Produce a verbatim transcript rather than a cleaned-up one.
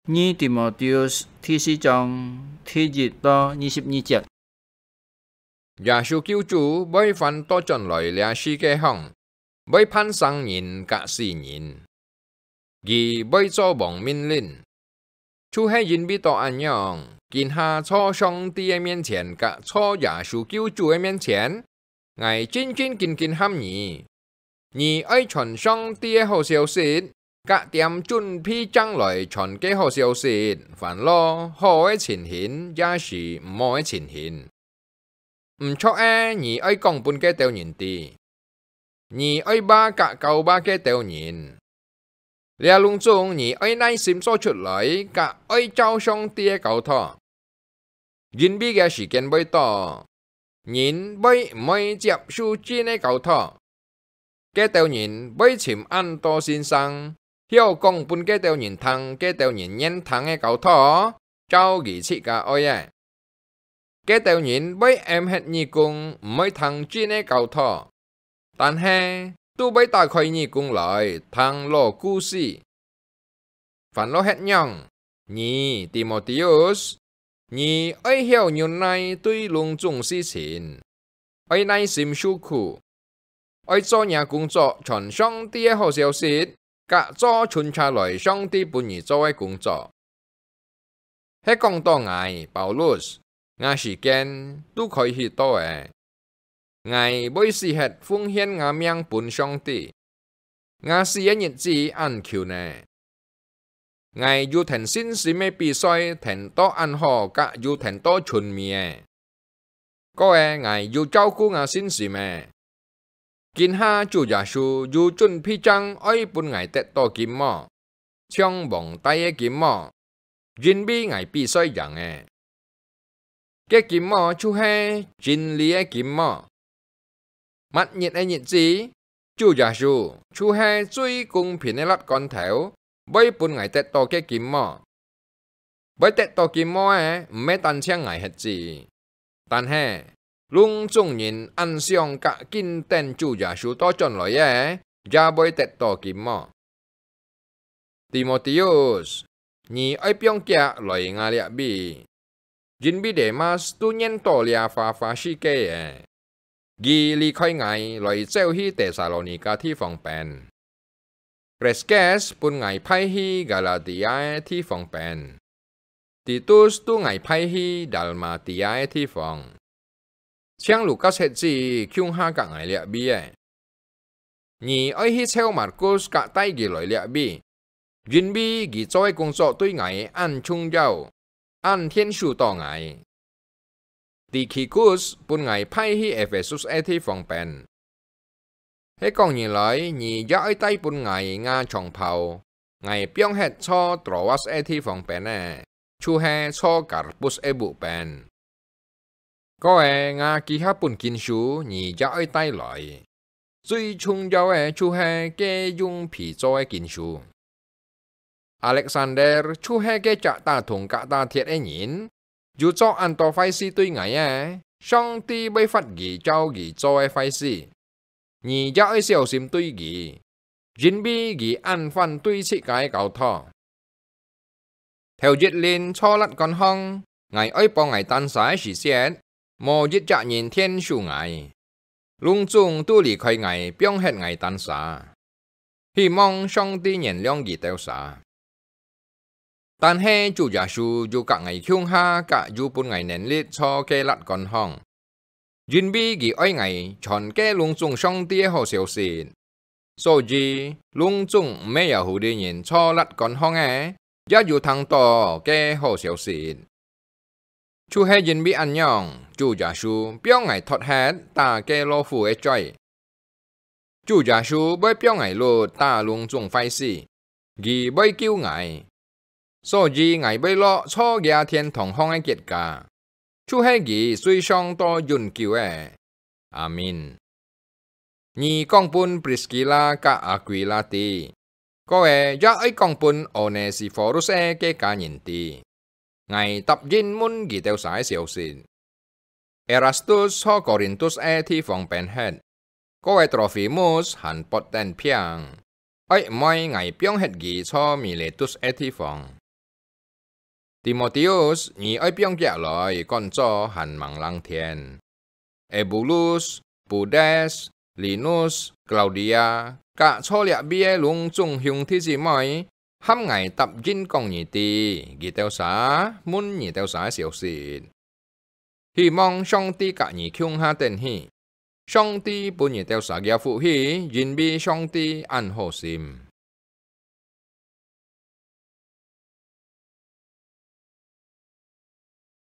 二提摩太第四章第一到二十二節。耶穌救主會還倒轉來這世界項，會判生人佮死人。佢會做王命令。就係因為到恁樣，今下在上帝个面前佮在耶穌救主个面前，𠊎真真緊緊喊你，你愛傳上帝个好消息，佮恬準備正來傳个好消息，還落好个情形，也係毋好个情形。毋著个，你愛講分該兜人知。你愛話佮教話該兜人。這攏總你愛耐心做出來，佮愛照上帝个交託。因為个時間會到，人會毋會接受真个交託。該兜人會尋恁多先生，曉講分該兜人聽，該兜人願聽个交託，照佢自家愛个。該兜人會揜核耳公，毋會聽真个交託，但係都會打開耳公來聽老故事。還落歇仰，你，提摩太，你愛曉忍耐對攏總事情，愛耐心受苦，愛做若工作，傳上帝个好消息，佮做存下來上帝分你做个工作。係講到𠊎，Paulus，吾時間都開始到了。𠊎會死忒奉獻吾命分上帝。吾死个日子恁近了。𠊎有跈信心个比賽跈到恁好，佮有跈到賰尾了。過了，𠊎有照顧吾信心了。今下主耶穌有準備正愛分𠊎得到金帽，像王戴个金帽，因為𠊎比賽贏了。該金帽就係真理个金帽。 末日个日子，主耶穌就係最公平个辣罐頭，會分𠊎得到該金帽。會得到金帽个，毋係單淨𠊎核子，但係，攏總人恁想佮緊等主耶穌倒轉來个，也會得到金帽。 提摩太，你愛放遽來吾這位，因為Demas都認到這花花世界了。佢離開𠊎，來走去帖撒羅尼迦地方邊。Kreskes分𠊎派去Galatia个地方邊。 Titus都𠊎派去Dalmatia个地方，淨Lukas核子共下佮𠊎這位了。你愛去召Markus佮帶佢來這位，因為佢做个工作對𠊎恁重要，恁𢯭手到𠊎。Tikhikus分𠊎派去Ephesus个地方邊。 係講你來，你也愛帶分𠊎吾長袍，𠊎放核在Troas个地方邊了，就係在Karpus个屋邊。過了，吾幾下本經書你也愛帶來，最重要个就係該用皮做个經書。 Alexander就係該隻打銅佮打鐵个人，有做恁多壞事對𠊎个，上帝會罰佢照佢做个壞事。你也愛小心對佢，因為佢恁反對自家个交託。頭一輪在辣罐項，𠊎愛幫𠊎單儕个時節，無一隻人𢯭手𠊎，攏總都離開𠊎，放核𠊎單儕。 希望上帝原諒佢兜儕。但係主耶穌有佮𠊎共下，佮有分𠊎能力在該辣罐項，因為佢愛𠊎傳該攏總上帝个好消息。所以，攏總毋係Yahudi人在辣罐項个，也有聽到該好消息。 就係因為恁樣，主耶穌放𠊎脫核打該老虎个嘴。主耶穌會放𠊎甪打攏總壞事，佢會救𠊎。所以𠊎會落在厥天堂項个結家，就係佢最上到永久个。阿們。 你講分Priskila佮Aquila知，過了也愛講分Onesiphorus个家人知。𠊎答應問佢兜儕个消息。Erastus在Korintus个地方變忒，過了Trofimus還發等病，愛毋愛𠊎放忒佢在Miletus个地方。Timoteus，你愛放厥來，趕早還吂冷天。Ebulus、Pudes、Linus、Klaudia，佮坐這位个攏總兄弟姊妹，喊𠊎答應講你知，佢兜儕問你兜儕个消息。希望上帝佮你共下等去。上帝分你兜儕个福氣，因為上帝恁好心。